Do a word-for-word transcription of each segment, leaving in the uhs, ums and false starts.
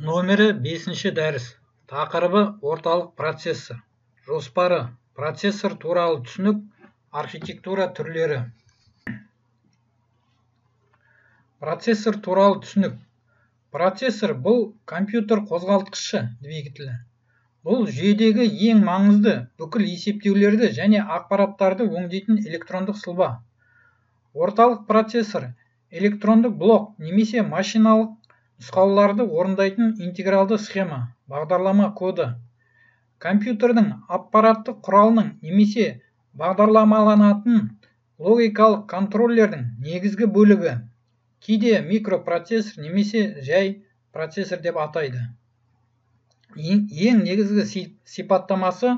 Номері бесінші дәріс. Тақырыбы орталық процессор. Жоспары процессор туралы түсінік, архитектура түрлері. Процессор туралы түсінік. Процессор бұл компьютер қозғалтқышы двигателі. Бұл жүйедегі ең маңызды бүкіл есептеулерді және ақпараттарды өңдейтін электрондық сызба. Орталық процессор электрондық блок немесе машиналық нұсқауларды орындайтын интегралды схема, бағдарлама коды. Компьютердің аппараттық құралының немесе бағдарламаланатын логикалық контроллердің негізгі бөлігі. Кейде микропроцессор немесе жай процессор деп атайды. Ең негізгі сипаттамасы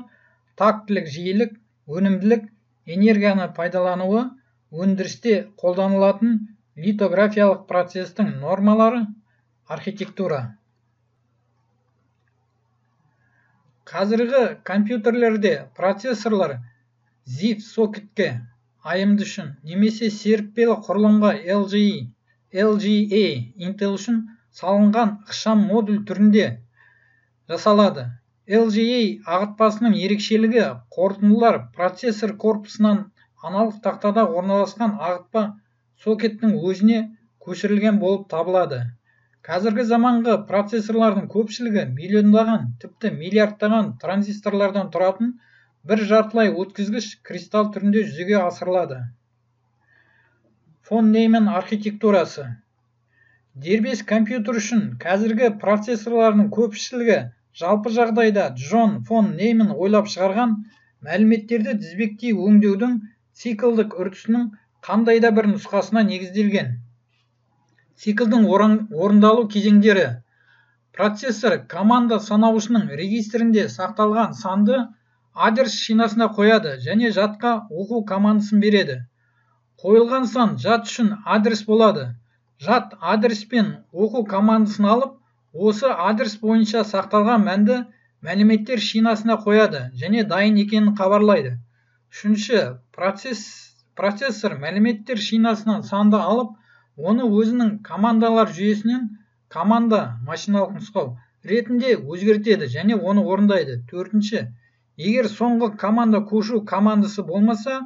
тактілік жиілік, өнімділік, энергияны пайдалануы, өндірісте қолданылатын литографиялық процестің нормалары, архитектура. Қазіргі компьютерлерде процессорлар зиф сокетке ай эм ди үшін немесе серіппелі құрылымға эл джи эй, эл джи эй Intel үшін салынған ықшам модуль түрінде жасалады. эл джи эй ағытпасының ерекшелігі қорытындылар процессор корпусынан аналық тақтада орналасқан ағытпа сокеттің өзіне көшірілген болып табылады. Қазіргі заманғы процессорлардың көпшілігі миллиондаған, тіпті миллиардтаған транзисторлардан тұратын бір жартылай өткізгіш кристалл түрінде жүзеге асырылады. Фон Нейман архитектурасы. Дербес компьютер үшін қазіргі процессорлардың көпшілігі жалпы жағдайда Джон фон Нейман ойлап шығарған мәліметтерді тізбектей өңдеудің циклдік үрдісінің қандай да бір нұсқасына негізделген. Циклдің орындалу кезеңдері. Процессор команда санауышының регистрінде сақталған санды адрес шинасына қояды және жадқа оқу командасын береді. Қойылған сан жад үшін адрес болады. Жад адрес пен оқу командасын алып, осы адрес бойынша сақталған мәнді мәліметтер шинасына қояды және дайын екенін хабарлайды. Үшінші, процессор мәліметтер шинасынан санды алып, оны өзінің командалар жүйесінен команда машиналық нұсқау ретінде өзгертеді және оны орындайды. Төртінші, егер соңғы команда көшу командасы болмаса,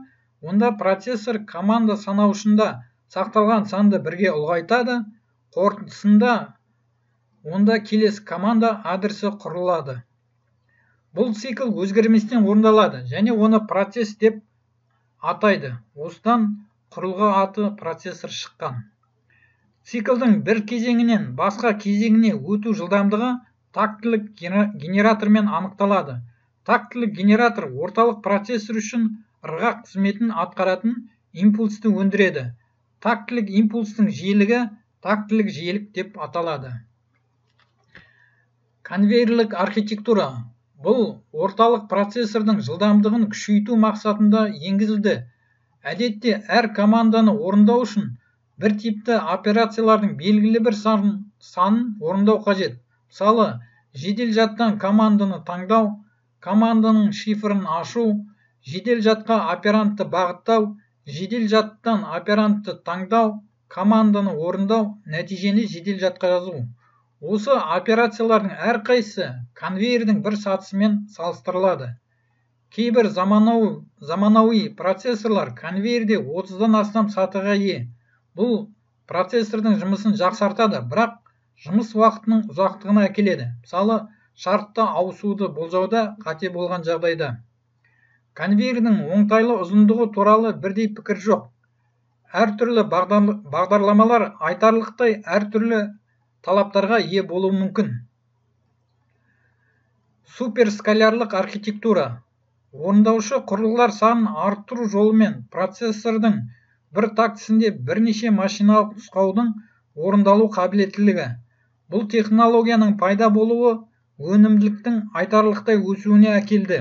онда процессор команда санауышында сақталған санды бірге ұлғайтады. Қорытындысында онда келесі команда адресі құрылады. Бұл цикл өзгерместен орындалады және оны процесс деп атайды. Осыдан құрылғы аты процессор шыққан. Циклдің бір кезеңінен басқа кезеңіне өту жылдамдығы тактілік генератормен анықталады. Тактілік генератор орталық процессор үшін ырғақ қызметін атқаратын импульсті өндіреді. Тактілік импульстің жиілігі тактілік жиілік деп аталады. Конвейерлік архитектура. Бұл орталық процессордың жылдамдығын күшейту мақсатында енгізілді. Әдетте әр команданы орындау үшін бір типті операциялардың белгілі бір санын орындау қажет. Мысалы, жедел жадтан команданы таңдау, команданың шифрын ашу, жедел жадқа оперантты бағыттау, жедел жадтан оперантты таңдау, команданы орындау, нәтижені жедел жадқа жазу. Осы операциялардың әрқайсысы конвейердің бір сатысымен салыстырылады. Кейбір заманауи процессорлар конвейерде отыздан астам сатыға ие. Бұл процессордың жұмысын жақсартады, бірақ жұмыс уақытының ұзақтығына әкеледі. Мысалы, шартты ауысуды болжауда қате болған жағдайда. Конвейердің оңтайлы ұзындығы туралы бірдей пікір жоқ. Әртүрлі бағдарламалар айтарлықтай әртүрлі талаптарға ие болуы мүмкін. Суперскалярлық архитектура. Орындаушы құрылғылар санын арттыру жолымен процессордың бір тактісінде бірнеше машиналық нұсқаудың орындалу қабілеттілігі. Бұл технологияның пайда болуы өнімділіктің айтарлықтай өсуіне әкелді.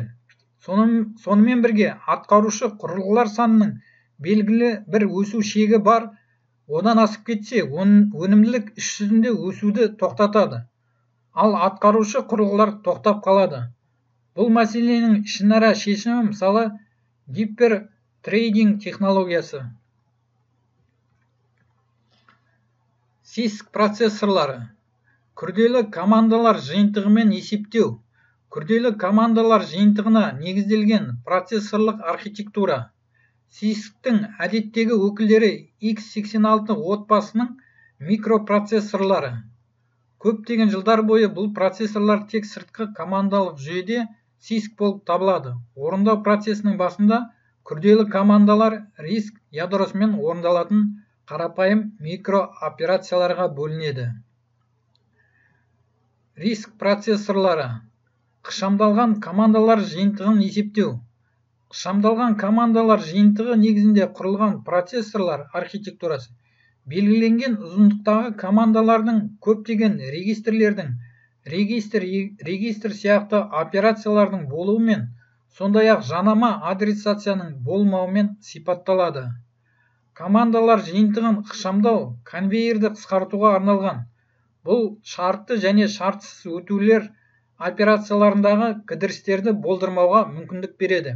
Сонымен бірге атқарушы құрылғылар санының белгілі бір өсу шегі бар. Одан асып кетсе, өнімділік іс жүзінде өсуді тоқтатады. Ал атқарушы құрылғылар тоқтап қалады. Бұл мәселенің ішінара шешімі мысалы гипертрейдинг технологиясы. сиск процессорлары. Күрделі командалар жиынтығымен есептеу. Күрделі командалар жиынтығына негізделген процессорлық архитектура. сисктің әдеттегі өкілдері икс сексен алты отбасының микропроцессорлары. Көптеген жылдар бойы бұл процессорлар тек сыртқы командалық жүйеде сиск болып табылады. Орындау процесінің басында күрделі командалар риск ядросымен орындалатын қарапайым микрооперацияларға бөлінеді. Риск процессорлары. Ықшамдалған командалар жиынтығын есептеу. Ықшамдалған командалар жиынтығы негізінде құрылған процессорлар архитектурасы. Белгіленген ұзындықтағы командалардың көптеген регистрлердің, регистр, регистр сияқты операциялардың болуымен, сондай-ақ жанама адресацияның болмауымен сипатталады. Командалар жиынтығын ықшамдау конвейерді қысқартуға арналған. Бұл шартты және шартсыз өтулер операцияларындағы кідірістерді болдырмауға мүмкіндік береді.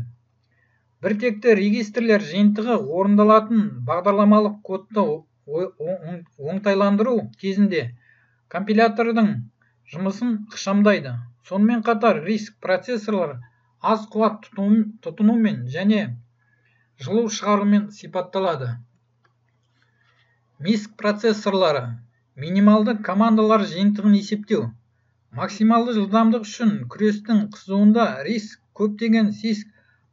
Біртекті регистрлер жиынтығы орындалатын бағдарламалық кодты оңтайландыру кезінде компилятордың жұмысын ықшамдайды. Сонымен қатар риск процессорлар аз қуат тұтынумен және жылу шығарумен сипатталады. миск процессорлары. Минималды командалар жиынтығын есептеу. Максималды жылдамдық үшін күрестің қызуында риск көптеген сиск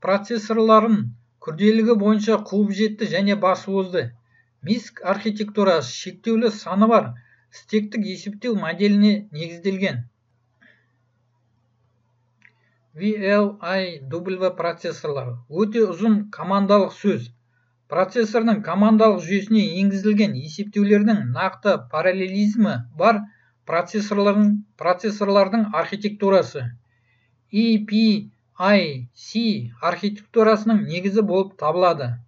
процессорларын күрделілігі бойынша қуып жетті және басып озды. миск архитектурасы шектеулі саны бар стектік есептеу моделіне негізделген. ви эл ай дабл ю процессорлары. Өте ұзын командалық сөз. Процессордың командалық жүйесіне енгізілген есептеулердің нақты параллелизмі бар процессорлардың, процессорлардың архитектурасы. и пи ай си архитектурасының негізі болып табылады.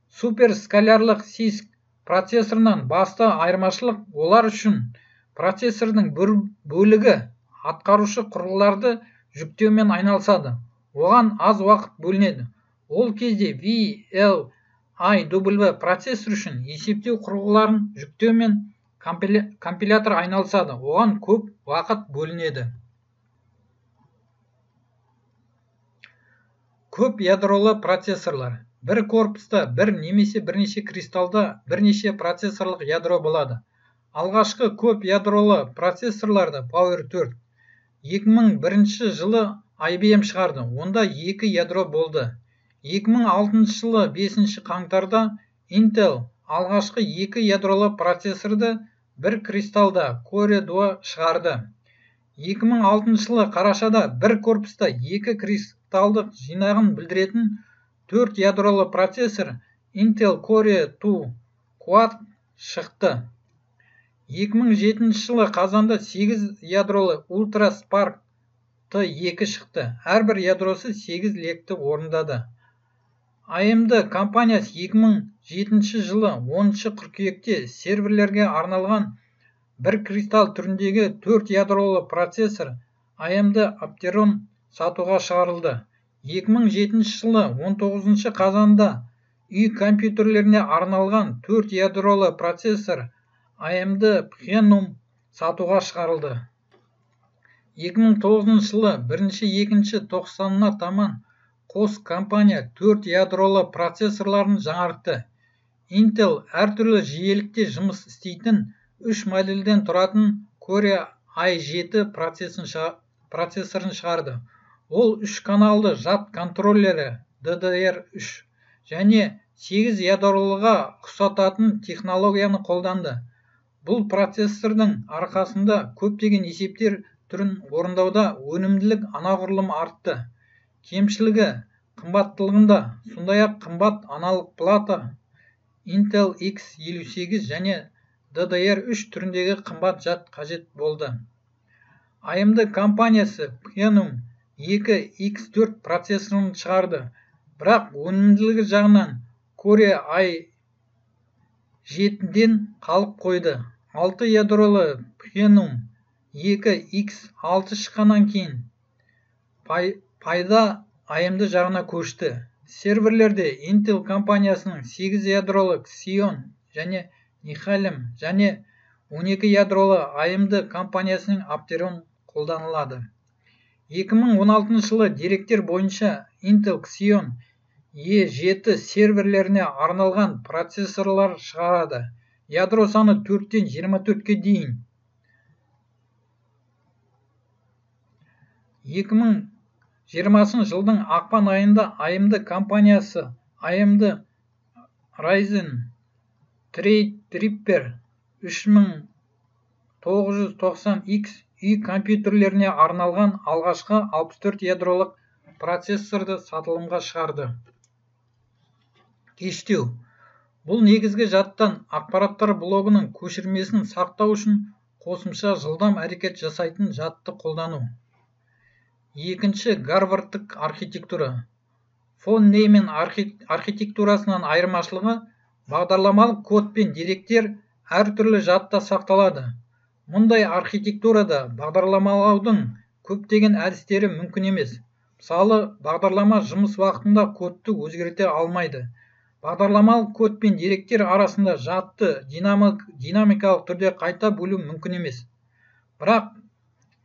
Суперскалярлық сиск процессорынан басты айырмашылық олар үшін процессордың бір бөлігі атқарушы құрылғыларды жүктеумен айналысады. Оған аз уақыт бөлінеді. Ол кезде ви эл ай дабл ю процессор үшін есептеу құрылғыларын жүктеумен компилятор айналысады. Оған көп уақыт бөлінеді. Көп ядролы процессорлар. Бір корпуста бір немесе бірнеше кристалда бірнеше процессорлық ядро болады. Алғашқы көп ядролы процессорларды Power төрт екі мың бірінші жылы ай би эм шығарды. Онда екі ядро болды. екі мың алтыншы жылы бесінші қаңтарда Intel алғашқы екі ядролы процессорды бір кристалда Core два шығарды. екі мың алтыншы жылы қарашада бір корпуста екі кристалдық жинағын білдіретін төрт ядролы процессор Intel Core два Quad шықты. екі мың жетінші жылы қазанда сегіз ядролы Ultra Spark Т екі шықты. Әрбір ядросы сегіз лекті орындады. эй эм ди компаниясы екі мың жетінші жылы оныншы қыркүйекте серверлерге арналған бір кристалл түріндегі төрт ядролы процессор эй эм ди Opteron сатуға шығарылды. екі мың жетінші жылы он тоғызыншы қазанда үй компьютерлеріне арналған төрт ядролы процессор эй эм ди Phenum сатуға шығарылды. екі мың тоғызыншы жылы бірінші екінші тоқсанына таман қос компания төрт ядролы процессорларын жаңартты. Intel әртүрлі жиелікте жұмыс істейтін үш модельден тұратын Core ай жеті процессорын шығарды. Ол үш каналды жад контроллері ди ди эр үш және сегіз ядролыға ұқсататын технологияны қолданды. Бұл процессордың арқасында көптеген есептер түрін орындауда өнімділік анағұрлым артты. Кемшілігі қымбаттылығында, сондай-ақ қымбат аналық плата Intel икс елу сегіз және ди ди эр үш түріндегі қымбат жад қажет болды. эй эм ди компаниясы Phenum екі икс төрт процессорын шығарды, бірақ өнімділігі жағынан Core ай жетіден қалып қойды. алты ядролы Phenum екі икс алты шыққаннан кейін пайда эй эм ди жағына көшті. Серверлерде Intel компаниясының сегіз ядролы Xeon және Nehalem және он екі ядролы а эм ді компаниясының Apteron қолданылады. екі мың он алтыншы жылы деректер бойынша Intel Xeon е жеті серверлеріне арналған процессорлар шығарады. Ядро саны төрттен жиырма төртке дейін. екі мың жиырмасыншы жылдың ақпан айында а эм ді компаниясы а эм ді Ryzen Threadripper үш мың тоғыз жүз тоқсан икс үй компьютерлеріне арналған алғашқы алпыс төрт ядролық процессорды сатылымға шығарды. Кештеу. Бұл негізгі жадтан ақпараттар блогының көшірмесін сақтау үшін қосымша жылдам әрекет жасайтын жадты қолдану. Екінші Гарвардтық архитектура. Фон Нейман архитектурасынан айырмашылығы бағдарламалық код пен деректер әртүрлі жадта сақталады. Мұндай архитектурада бағдарламалаудың көптеген әдістері мүмкін емес. Мысалы, бағдарлама жұмыс уақытында кодты өзгерте алмайды. Бағдарламалық код пен деректер арасында жадты динамик, динамикалық түрде қайта бөлу мүмкін емес. Бірақ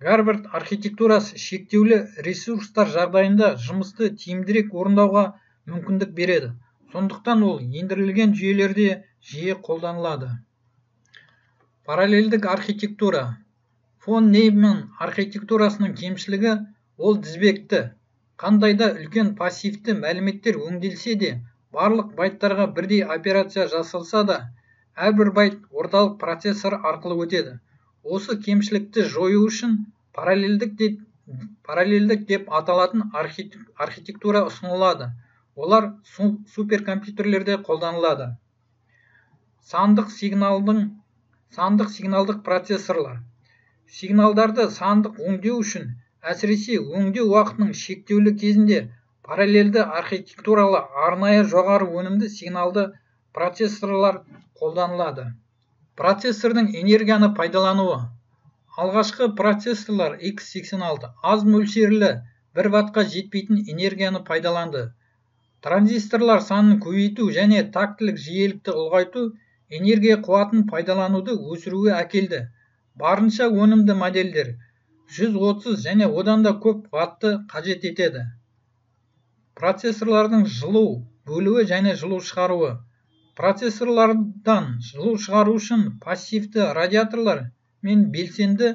Гарвард архитектурасы шектеулі ресурстар жағдайында жұмысты тиімдірек орындауға мүмкіндік береді. Сондықтан ол ендірілген жүйелерде жиі қолданылады. Параллельдік архитектура. Фон Нейман архитектурасының кемшілігі ол тізбекті. Қандайда үлкен пассивті мәліметтер өңделсе де, барлық байттарға бірдей операция жасалса да, әрбір байт орталық процессор арқылы өтеді. Осы кемшілікті жою үшін параллельдік деп, параллельдік деп аталатын архитектура ұсынылады. Олар суперкомпьютерлерде қолданылады. Сандық сигналдың сандық сигналдық процессорлар. Сигналдарды сандық өңдеу үшін, әсіресе өңдеу уақытының шектеулі кезінде параллельді архитектуралы арнайы жоғары өнімді сигналды процессорлар қолданылады. Процессордың энергияны пайдалануы. Алғашқы процессорлар икс сексен алты аз мөлшерлі бір ваттқа жетпейтін энергияны пайдаланды. Транзисторлар санын көбейту және тактілік жиілікті ұлғайту энергия қуатын пайдалануды өсіруге әкелді. Барынша өнімді модельдер жүз отыз және одан да көп ватты қажет етеді. Процессорлардың жылу бөлуі және жылу шығаруы. Процессорлардан жылу шығару үшін пассивті радиаторлар мен белсенді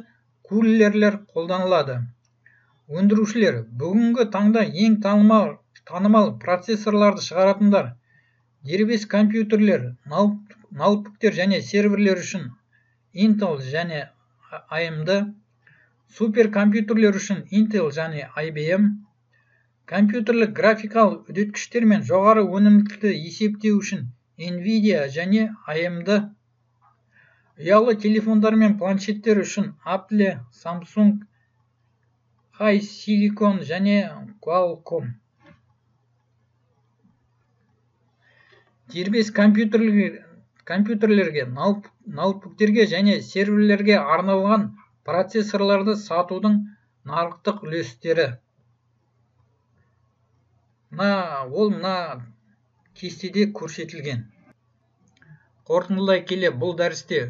кулерлер қолданылады. Өндірушілер бүгінгі таңда ең танымал, танымал процессорларды шығаратындар. Дербес компьютерлер, ноутбуктер және серверлер үшін Intel және а эм ді, суперкомпьютерлер үшін Intel және ай би эм, компьютерлік графикалық үдеткіштер мен жоғары өнімділікті есептеу үшін Nvidia және а эм ді, ұялы телефондар мен планшеттер үшін Apple, Samsung, HiSilicon және Qualcomm. Дербес компьютерлерге, компьютерлерге, ноутбуктерге және серверлерге арналған процессорларды сатудың нарықтық үлестері. Мына, ол мына кестеде көрсетілген. Қорытындылай келе, бұл дәрісте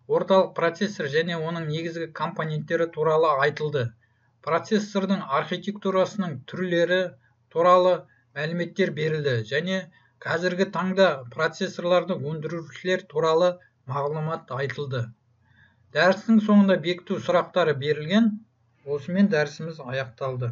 орталық процессор және оның негізгі компоненттері туралы айтылды. Процессордың архитектурасының түрлері туралы мәліметтер берілді және қазіргі таңда процессорларды өндірушілер туралы мағлұмат айтылды. Дәрістің соңында бекіту сұрақтары берілген. Осымен дәрісіміз аяқталды.